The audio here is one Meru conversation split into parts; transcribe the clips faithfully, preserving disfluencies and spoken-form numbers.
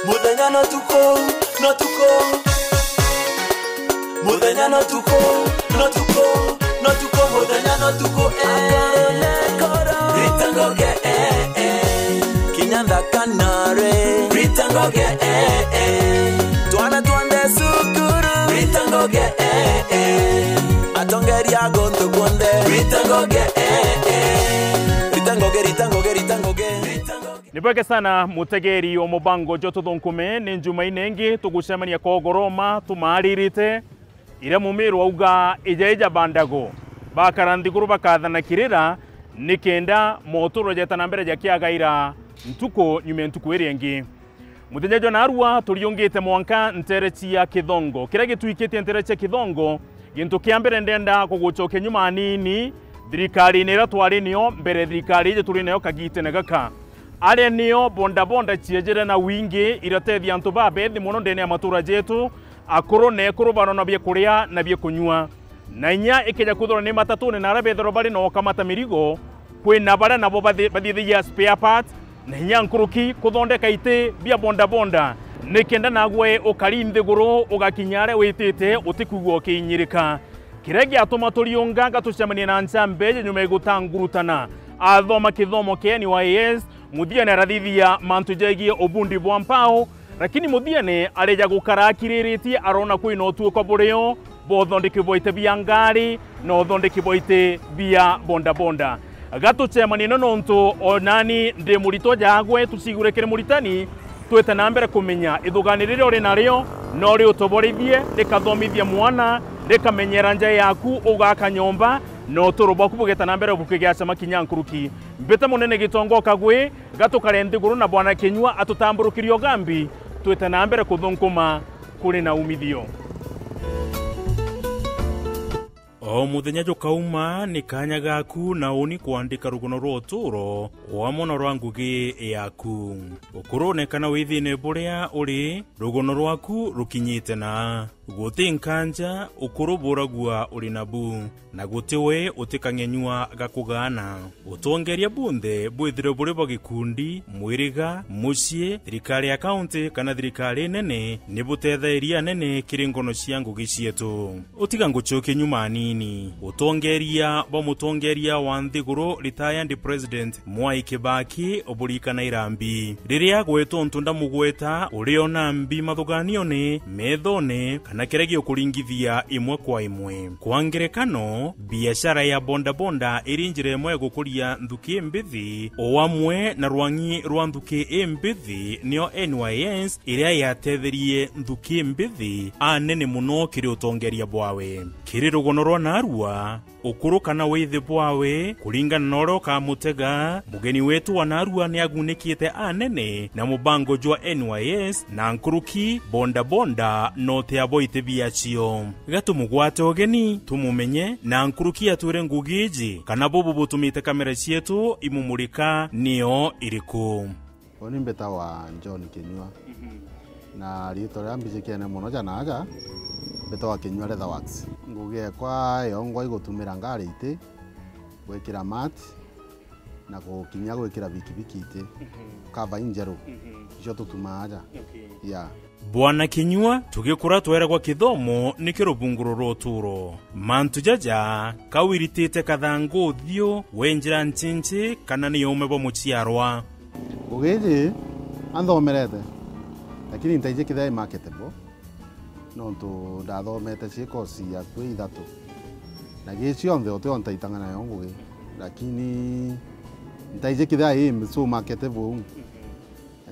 Muthenya no tuku, no tuku. Muthenya no tuku, no tuku, no tuku, muthenya no tuku, eh. Rita Ngugi, eh, eh. Kinya nthaka nare. Rita Ngugi, eh, eh. Twana twa nde cukuru. Rita Ngugi, eh, eh. Atongeria guntu kunthe. Rita Ngugi, eh, eh. Rita Ngugi, Rita Ngugi, Rita Ngugi. Ni bwega sana mutegeri o mubango jwa Tuthunkume, ni Njumaine ingi tugucemania kogoroma tumaaririte, iria Mumiru auga ija ija bandago, bakara nthiguru bakathana kirira, nikenda moturo jeta na mbere jakiagaira ntuku nyuma ya ntuku iria ingi. Muthenya jwa narua turiungite mwanka ntere cia Kithongo. Kiria gitwikitie ntere cia Kithongo, gintu kia mbere ndenda kugucokia nyuma anini thirikarine iria twari nio mbere thirikari iji turi nayo kagitene gaka. Aria nio bondabonda ciejere na wingi iratethia antu babethi mono ndene ya matura jetu, akuru na ekuru barona bia kuria na bia kunyua. Na inya ikeja kwithirwa ni matatune na aria bethirwa bari na ukamata mirigo, kwina baria nabo bathi-, bathithagia spare parts, na inya nkuruki kuthondeka iti bia bondabonda, nikenda nagwe ukari nthiguru ugakinya aria witite utikwigua ukiinyirika. Kiria giatuma turiunga gatucemania na ncambe ya nyuma igutangurutana, athoma kithomo kia N Y S, muthiene arathithia mantu jegie ubundi bwa mpao, lakini muthiene areja gukara akiriritie, arona kwina utuiko burio bwa uthondeki bwa iti bia ngari na uthondeki bwa iti bia bondabonda. Gatucemanie no nontu o nani ndi muritwa jagwe, tucigure kiri muritani, twite na mbere kumenya ithugani riria uri nario no riutoborithie, rikathomithia mwana, rikamenyera nja yaku, ugaka nyomba, na uturo bwaku bugeta na mbere bukigacama kinya nkuruki. Mbite munene Gitonga Kagwe, gatukare nthiguru na Bwana Kinyua atutamburukirie ugambi, twite na mbere kuthunkuma kuri na umithio. O muthenya jukauma, ni kanya gaku na uni kwandika rugono rwa uturo, o amwe na rwa ngugi yaku. Ukurune kana withine buria uri, rugono rwaku rukinyite na. Guti nkanja, ukuru buragua uri nabu, na guti we utikang'enyua gakugaana. Utongeria bunthe bwithire buri bwa gikundi, mwiriga, mucii, thirikari ya kaunti, kana thirikari nene, ni butethairie anene kiri ngono cia ngugi cietu. Utiga ngucokie nyuma anini. Utongeria bwa mutongeria wa nthiguru, retired President Mwai Kibaki, uburikana irambi. Riria agwetwa untu ndamugweta, uriona mbi mathuganione, methone, kana kiria gikuringithia imwe kwa imwe. Kwa ngerekano, biashara ya bondabonda iri njira imwe ya gukuria nthuki imbithi, o amwe na rwang'i rwa nthuki imbithi, nio N Y S, iria yatetherie nthuki mbithi anene mono kiri utongeria bwawe. Kiri rugono rwa narua, ukuru kana withi bwawe, kuringana na uria ukamutega, mugeni wetu wa narua ni agunikite anene na mubango jwa N Y S na nkuruki bondabonda na utia bwa iti biacio. Gatumugwate ugeni, tumumenye, na nkuruki atwire ngugi iji, kana bubu butumite kamera cietu imumurika nio iriku. Uni mbitagwa John Kinyua. Mhm. Na riitwa riria mbijikene mono ja naaja, mbitagwa Kinyua Leather Works. Ngugi ekwa yongwa igutumira ngari iti, gwikira mat, na gukinya gwikira bikibiki iti. Mhm. Cover injeru. Mhm. Icio tutumaa aja. Okay. Yeah. Bwana Kinyua, tugikura tweragwa kithomo nikio rubunguro rwa uturo. Mantu jaja, ka wiritite kathangu uthiu, wi njira nchinchi, kana ni uume bwa muciarwa? Ngugi iji anthomerete, lakini ntaiji kethira i marketable, nontu ndathomete cie course akui ithatu. Na gi cionthe utio ntaitanga nayo ngugi, lakini ntaiji kethira i so marketable uu.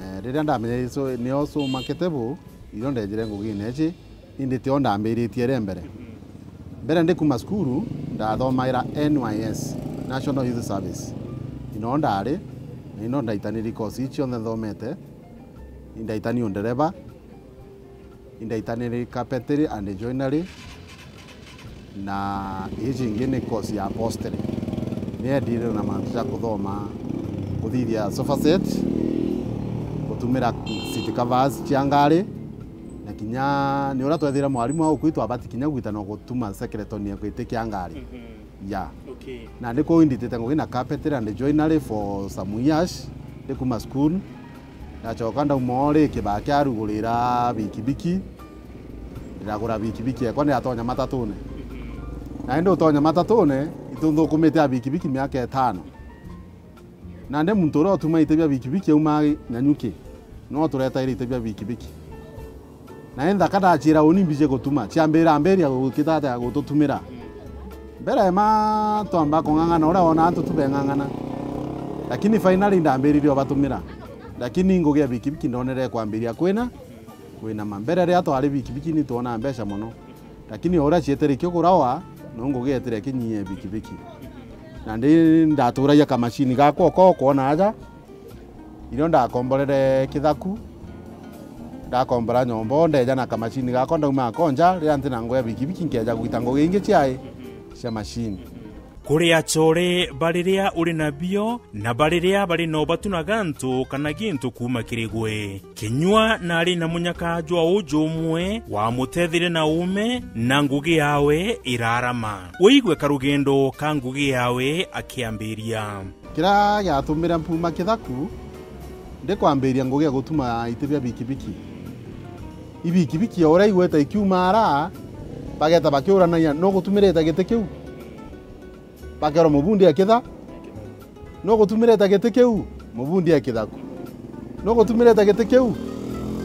Eh, riria ndamenya icio nio so marketable, irio ndejire ngugine ici, indi tio ndambiritie ri mbere. Mbere ndi kuma cukuru, ndathomaira N Y S, National Youth Service. Ino ndari, na ino ndaitaniri course ici cionthe nthomete, indaitani undereba, indaitaniri carpentry and joinery, na iji ingi ni course ya upholstery. Ni endire na mantu ja kuthoma, kuthithia sofa set, gutumira seat covers cia ngari, na kinya ni uria twethire mwarimu au kwi twabati kinya gwitana gutuma skeleton ya giti kia ngari. Mhm. Ya. Okay. Na ni kuu inditite ngugi na carpentry and joinery for some years, ndi kuma school. Ndacoka ndauma o ri kibaa kia rugurira bikibiki, ndiragura bikibiki ekwa, ndiratonya matatune. Na indi utonya matatune, itunthukumite a bikibiki miaka itano. Nandi muntu uria utumaa iti bia bikibiki auma Nyanyuki, no turetaire iti bia bikibiki. Na i nthaka ndaciira uni mbiji gutuma, ciambira ambiria gukitata ya gututumira. Mbere ma twamba kung'ang'ana, uria wona antu tubeng'ang'ana. Lakini finally ndambiririe ubatumira. Lakini ngugi ya bikibiki ndonere kwambiria kwina, kwinama. Mbere riria twari bikibiki ni twonaa mbeca mono. Lakini o uria cietire ikigurawa, no ngugi yetire ikinyia bikibiki. Na ndi ndaturagia kamacini gakwa uko kwona aja, irio ndakomborere Kithaku, ndakombora nyomba, ndeja na kamacini gakwa ndauma akonja, riria ntina ngugi ya bikibiki nkeja gwita ngugi ingi ciai cia macini. Kuri achore bariria uri nabio, na bariria bari no batunaga antu kana gintu kuuma kiri gwe. Kinyua nari na munyaka jwa uju umwe, wamutethirie na uume, na ngugi yawe irarama. Wigue karugendo ka ngugi yawe akiambiria. Kiria giatumire mpuma Kithaku, ndikwambiria ngugi ya gutuma iti bia bikibiki. Ibikibiki o uria igweta ikiuma ara, bageta bakiuranagia, "Nu gutumirite giti kiu?" Bakerwa, "Mubundi e Kitha-, nu gutumirite giti kiu?" "Mubundi e Kithaku." "Nu gutumirite giti kiu?"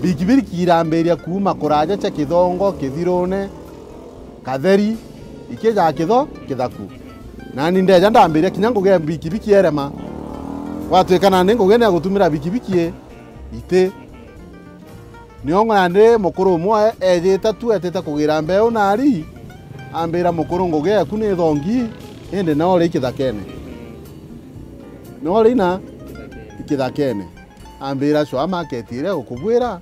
Bikibiki irambiria kuuma kuraja cia Kithongo, Kithirune, Katheri, ikija Kitho-, Kithaku. Nani ndeja ndambiria kinya ngugi ya bikibiki erema. Gwatuika nandi ngugi ni ya gutumira bikibiki i-, iti. Nio nandi mukuru umwe ejite tu, etite kugira mbeu nari, ambira, "Mukuru, ngugi eku ni thongi, indi no ri kithakene. No ri na kithakene." Ambira, "Sure market iria gukubwira,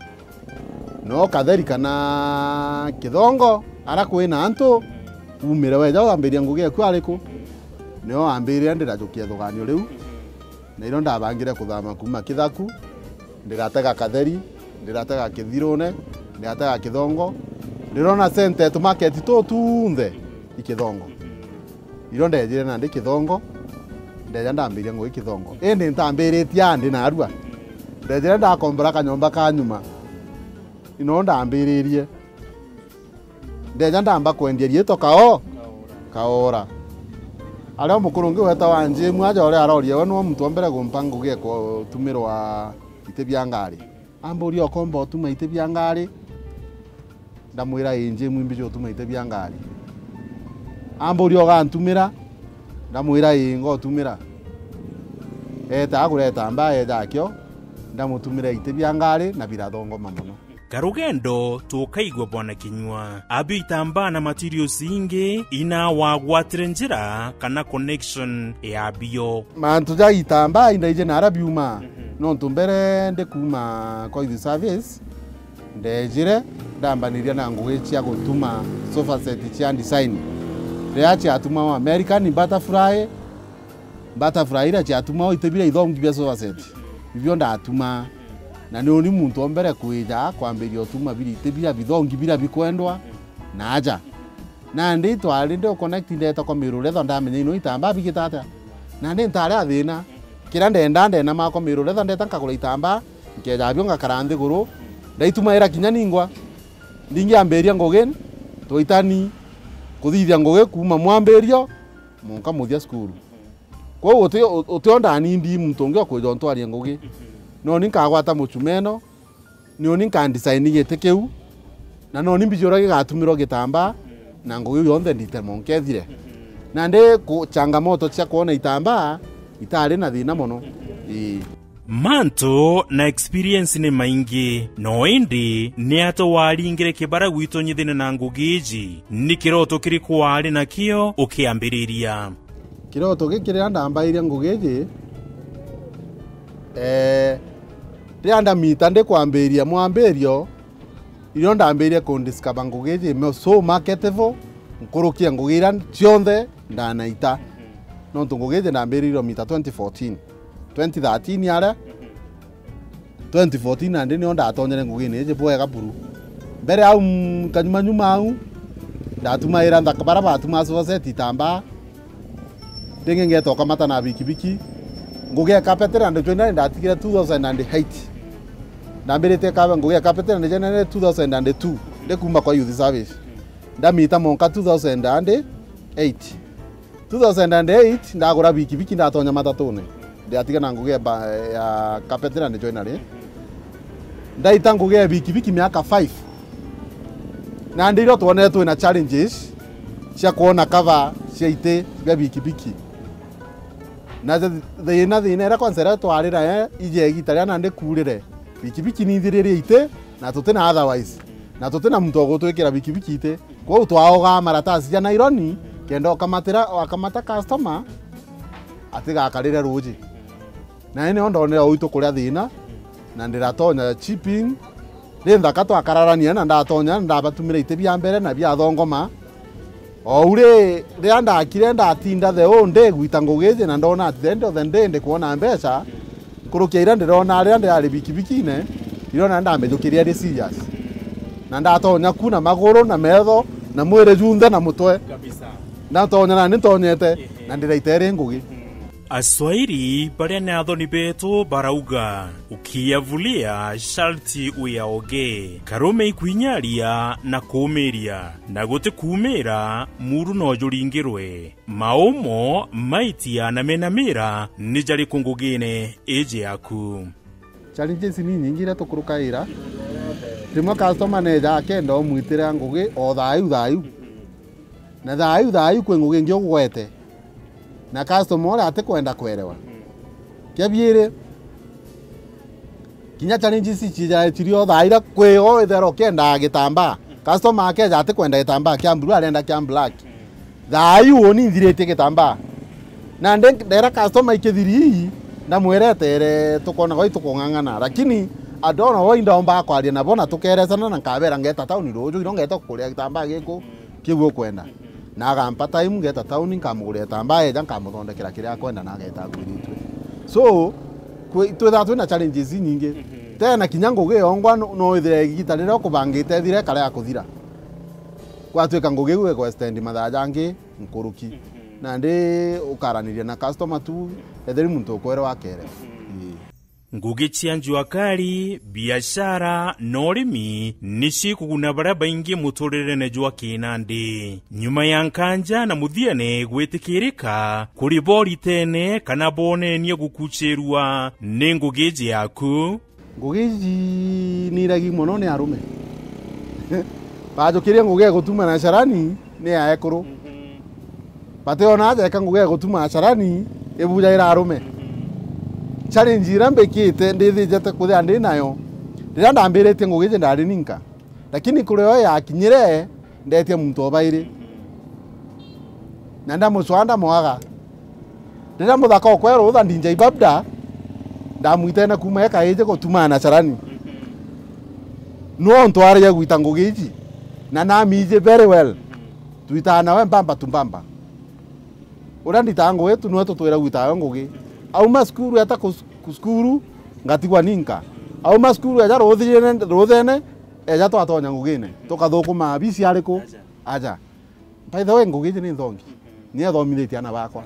no Katheri kana Kithongo, ara kwina antu, umire weja wambiria ngugi eku ariku?" Nio ambirire ndirajukia ithuganio riu, na irio ndabangire kuthama kuuma Kithaku, ndiratega Katheri, ndiratega Kithirune, ndiratega Kithongo, ndirona center tu market tu tunthe i Kithongo. Irio ndejire nandi Kithongo, ndeja ndambiria ngugi Kithongo. Indi ntambiritie aa ndi narua. Ndejire ndakombora kanyomba ka nyuma. Ino ndambiririe. Ndeja ndamba kwendia riitwa kao-, kaora. Aria mukuru ungi wetagwa Njemu aja uria aroria we niwe muntu wa mbere gumpa ngugi ya kutumirwa iti bia ngari. Amburia, "Ukomba utuma iti bia ngari?" Ndamwira, "Ii, Njemu, imbiji utuma iti bia ngari." Amburia, "Ugantumira?" Ndamwira, "Ii, ngotumira." Eeta agura itambaa eeja akio, ndamutumira iti bia ngari na birathongoma mono. Karugendo tukaigua bwana kinyua. Abio itambaa na materials ingi ina wagwatire njira kana connection ya bio. Mantu ja itambaa indaije nara biuma. Mhm. Nontu mbere ndi kuuma Koithi Service, ndejire ndambaniria na ngugi cia gutuma sofa set cia design. Riria ciatumagwa American butterfly, butterfly iria ciatumagwa iti bira ithongi bia sofa set. Ibio ndatumaa. Na ni uni muntu wa mbere kwija kwambiria utuma bira iti bira bithongi bira bikwendwa na aja. Nandi twari ndi uconnect ndeeta kwa Miru Leather ndamenya ino itambaa bigita atia. Nandi ntari a thina. Kiria ndenda ndena makwa Miru Leather ndeeta nkagura itambaa, nkeja bio ngakara nthiguru, ndaitumaira kinya ningwa. Ndingiambiria ngugi, twaitani kuthithia ngugi kuuma mwambirio munka muthia cukuru. Kwou uti-, uti o ndani ndi muntu ungi okwija untwaria ngugi. No ni nkagwata muchumeno, ni uni nkandesign giti kiu, na no ni mbiji uria gigatumirwa gitambaa, na ngugi iu yonthe nditemo nkethire. Nandi ku-, changamoto cia kwona itambaa itari na thina mono. Ii. Mantu na experience ni maingi, no indi ni atia waringire kibara gwitonyithania na ngugi iji? Ni kiroto kiriku wari nakio ukiambiriria? Kiroto giki riria ndambairia ngugi iji, eh, riria ndamita ndikwambiria mwambirio, irio ndambirie kundiscover ngugi iji me so marketable, nkuruki ya ngugi iria cionthe ndanaita. Nontu ngugi iji ndambiririe mita twenty fourteen. Twenty thirteen aria, twenty fourteen nandi nio ndatonyere ngugine iji bwega buru. Mbere au, mm, kanyuma nyuma au, ndatumaira nthaka bara batumaa sofa set itambaa. Ringi ngeta ukamata na bikibiki. Ngugi ya carpentry and joinery ndatigire two thousand and eight. Ambirite kaba ngugi ya carpentry na joinery two thousand and two, ndi kuma kwa youth service. Ndamita monka two thousand and eight. Two thousand and eight, ndagura bikibiki, ndatonya matatune. Ndiatiga na ngugi ya ba-, ya carpentry na joinery. Ndaita ngugi ya bikibiki miaka five. Na ndirio twonere twina challenges cia kwona cover cia iti bia bikibiki. Na thi-, thina, thina iria kwanza iria twarira, eh, ije igita riria nandi kuurire, bikibiki ni ithiririe iti, na tutina otherwise, na tutina muntu wa gutwikira bikibiki iti. Kwou twaogaa maratasi ja naironi, kenda ukamatira, wakamata customer, atigakarire ruuji. Na ni nio ndonere uitu kuria thina, na ndiratonya chipping, ri nthaka twakararania, na ndatonya, na ndabatumira iti bia mbere na bia thongoma. Ou ri, riria ndakire ndatinda the whole day gwita ngugi iji, na ndona at the end of the day ndikwona mbeca, nkuruki ya iria ndirona riria ndirari bikibikine, ndirona ndamijukiria iri serious. Na ndatonya ku na maguru, na metho, na mwiri junthe, na mutwe. Kabisa. Ndatonya na ni ntonyete, ehe, na ndiraita iri ngugi. Aswahili baria ni athoni beetu barauga, "Ukiyavulia sharti uyaoge." Karume ikwinyaria na kuumiria, na guti kuumira, muru no juringirwe. Maumo, maitia na menamira ni jariku ngugine iji yaku? Challenges ni nyingi iria tukurukaira. Rimwe customer neja akenda umwitira ngugi o thayu thayu. Na thayu thayu kwi ngugi ingi ugwete. Na customer uria atikwenda kwerewa. Kia biiri, kinya challenges ici cijaetiri o thaa iria kwi o withera ukiendaa gitambaa. Customer akeja atikwenda gitambaa kia blue, arenda kia black. Thayu uni nthiritie gitambaa. Na ndi-, ndera customer ikithiri ii, ndamwira etere tukona gwa itukung'ang'ana. Lakini andona wa indaomba kwaria nabo na tukeresana na nkabera ngeta tauni ruju, ino ngeta kukuria gitambaa giku kiu ukwenda. Na agampa time, ngeta tauni, nkamugurira gitambaa, eja nkamuthondekera kiria akwenda na ageta akwiritue. So, kwi-, twithaa twina challenges inyingi. Mhm. Tena kinya ngugi yongwa no, no withire igita riria ukubangite ithire ikare ya kuthira. Gwatuika ngugi iu igwestendi mathaa jangi nkuruki. Mhm. Nandi ukaraniria na customer tu, etheri muntu ukwerwa akerewa. Mhm. Ii. Ngugi cia njuakari, biashara na urimi ni cikuguna baria baingi muturirene jwa kinandi. Nyuma ya nkanja na muthiene gwitikirika kuri boritene kana bonenie gukuchirua ni ngugi iji yaku? Ngugi iji ni iragi mono ni arume. Bajukiria ngugi ya gutuma na carani ni ya ekuru. Mhm. Bationa aja eka ngugi ya gutuma na carani ibujagira arume. Mhm. Challenge iria mbikite ndithijete kuthia ndi nayo, riria ndambiritie ngugi iji ndari ninka. Lakini kuri yo yakinyire, ndetie muntu o bairi. Na ndamucwaa ndamwaga. Riria muthaka okwe rutha D J Babda, ndamwitene kuuma eka iji gutumaa na carani. Nio ntwaragia gwita ngugi iji, na namiji very well. Twitaa nawe mbamba tu mbamba. Uria nditaa ngugi tu niwe tutwire gwita nawe ngugi. Auma cukuru eta ku-, ku-, cukuru, ngatigwa ninka. Auma cukuru eja ruthine, ruthene, eja twatonya ngugine. Tukathukumaa bisi ariku? Aja. Aja. By the way, ngugi iji ni nthongi. Ni ethomithitie ana bakwa.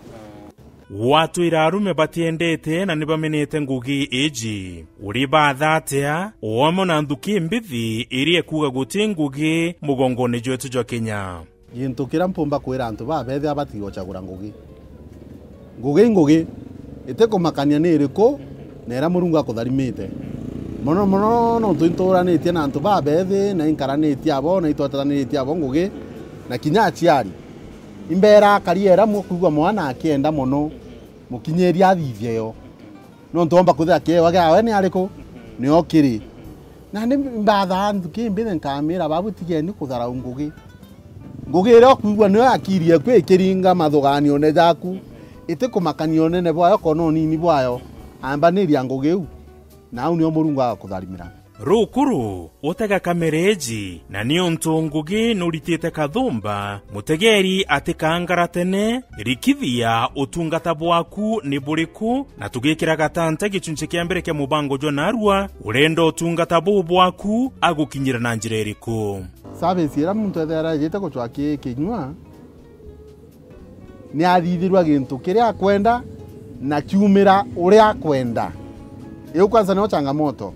Gwatwira arume batiendete na ni bamenete ngugi iji. Uri batha atia, o amwe na nthuki mbithi iria ikuuga guti ngugi mugongone jwetu jwa Kenya? Gintu kiria mpumba kwira antu baa beethia batige gucagura ngugi. Ngugi i ngugi, itikumakania ni iriku, na iria Murungu akutharimite. Mono mono nontu inturanitie na antu baa beethi, na inkaranitie abo, na itwetaniritie abo ngugi, na kinya aciari. Imbeera akari era mukwigua mwana akienda mono, mukinyirie athithie yo. Nontu omba kwithira kiewa giawe ni ariku? Nio kiri. Na ni mbathaa nthuki mbithe nkamira, babu tigeni kutharau ngugi. Ngugi iria ukwigua niyo akiri eku ikiringa mathuganione jaku, itikumakania unene bwayo kana unini bwayo, ambaniria ngugi iu, na au nio Murungu agakutharimira. Rukuru, utega kamere iji, na niuntu ngugi nuritite kathumba, mutegeri atikangara tene, rikithia utungata bwaku ni buriku, na tugikira gatanta gichunchi kia mbere kia mubango jwa narua, urenda utungata buu bwaku agukinyira na njira iriku? Service iria muntu ethera ejite gucwa ki kinyua, ni athithirua gintu kiria akwenda na kiumira uria akwenda. Iu kwanza nio changamoto.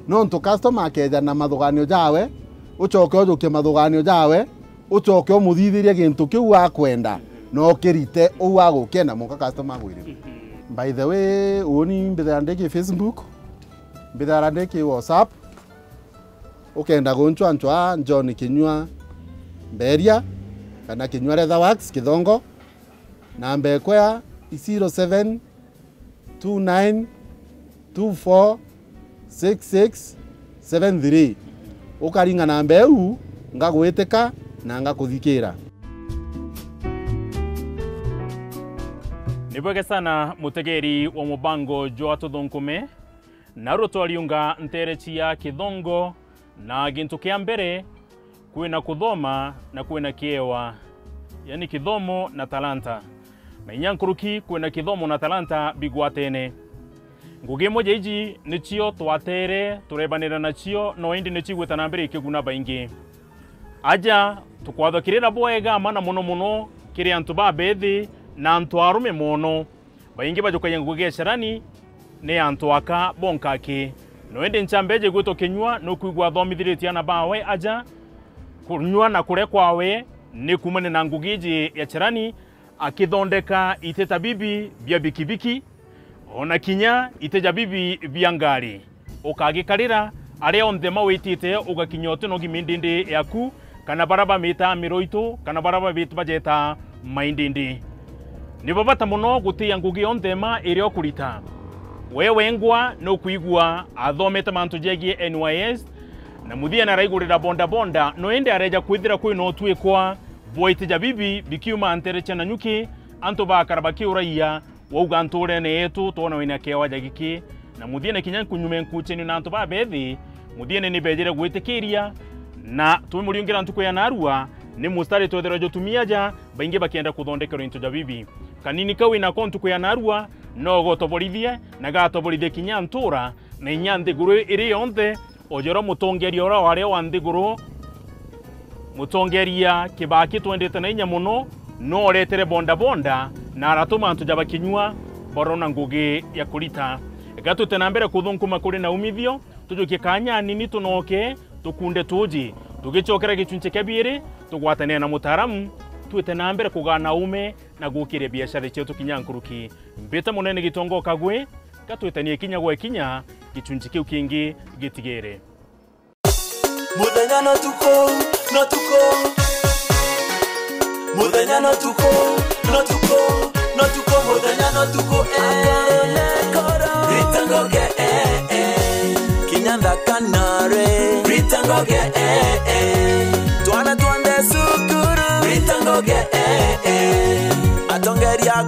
Nontu customer akeja na mathuganio jawe, ucoke ujukie mathuganio jawe, ucoke umuthithirie gintu kiu akwenda, na ukirite uu agukenda, mwanka customer agwirire. By the way, uuni mbithaira ndi ki Facebook, mbithaira ndi ki WhatsApp, ukenda guncwancwa John Kinyua Mberia, kana Kinyua Leather Works Kithongo, namba ekwa ya zero seven two nine two four six six seven three. Ukaringa namba iu, ngagwitika na ngakuthikira. Ni bwega sana, mutegeri wa mubango jwa Tuthunkume. Narua twariunga nteere cia Kithongo, na gintu kia mbere, kwina kuthoma na kwina kiewa, yani kithomo na talanta. Na inya nkuruki, kwina kithomo na talanta bigwatene. Ngugi imwe ja iji nicio twateere turebanira nacio, no indi nicigwita na mbere ikiguna baingi. Aja, tukwatho kirira bwega, mana mono mono kiri antu babethi na antu arume mono. Baingi bajukagia ngugi ya carani ni antu aka bonka aki. No indi ncambeje gwitwa Kinyua, nukwigua athomithiritie ana bawe aja, kunyua na kuria kwawe ni kuumania na ngugi iji ya carani, akithondeka ite ta bibi bia bikibiki, ona kinya ite ja bibi bia ngari. Ukagikarira, aria onthe mawitite ugakinya utinogi mindindi yaku, kana bara bamitaa miroito, kana bara babit-, bajetaa maindindi. Ni babata mono gutia ngugi yonthe ma iria ukurita. We wengwa nukwigua athomete mantu jegie N Y S, na muthiene araigurira bonda bonda, no indi areja kwithira kwina utwikwa bwa ite ja bibi bikiuma ntere cia Nanyuki, antu bakara bakiuraia, wauga nturene yetu twona wina kiewa ja giki, na muthiene kinya nkunyume nkuchenio na antu babethi, muthiene ni bejire gwitikiria, na twimuriungira ntuku ya narua, ni mustari twethirwa jutumia ja, baingi bakienda kuthondekerwa into ja bibi. Kanini kau inako ntuku ya narua, no gotoborithie, na gatoborithie kinya ntura, na inya nthiguru iri yonthe, o jorwa mutongeria uria wari wa nthiguru, mutongeria Kibaki twendete na inya mono, no oretere bonda bonda na aratuma antu ja Bakinyua barona ngugi ya kurita. Eka twite na mbere kuthunkuma kuri na umithio, tujukie kanya nini tunoke tukunde tuji. Tugicokera gicunchi kia biiri, tugwatanire na mutaaramu, twite na mbere kugana ume na gukiria biashara cietu kinya nkuruki. Mbite munene Gitonga Kagwe, gatwitanie kinya gwe kinya gicunchi kiu kingi gitigere. Muthenya no tuku, no tuku. Muthenya no tuku, no tuku, no tuku, muthenya no tuku, eh. Akoro na akoro. Rita ngoge, eh, eh. Kinya nthaka nare. Rita ngoge, eh, eh. Twana twande cukuru. Rita ngoge, eh, eh. Atongeria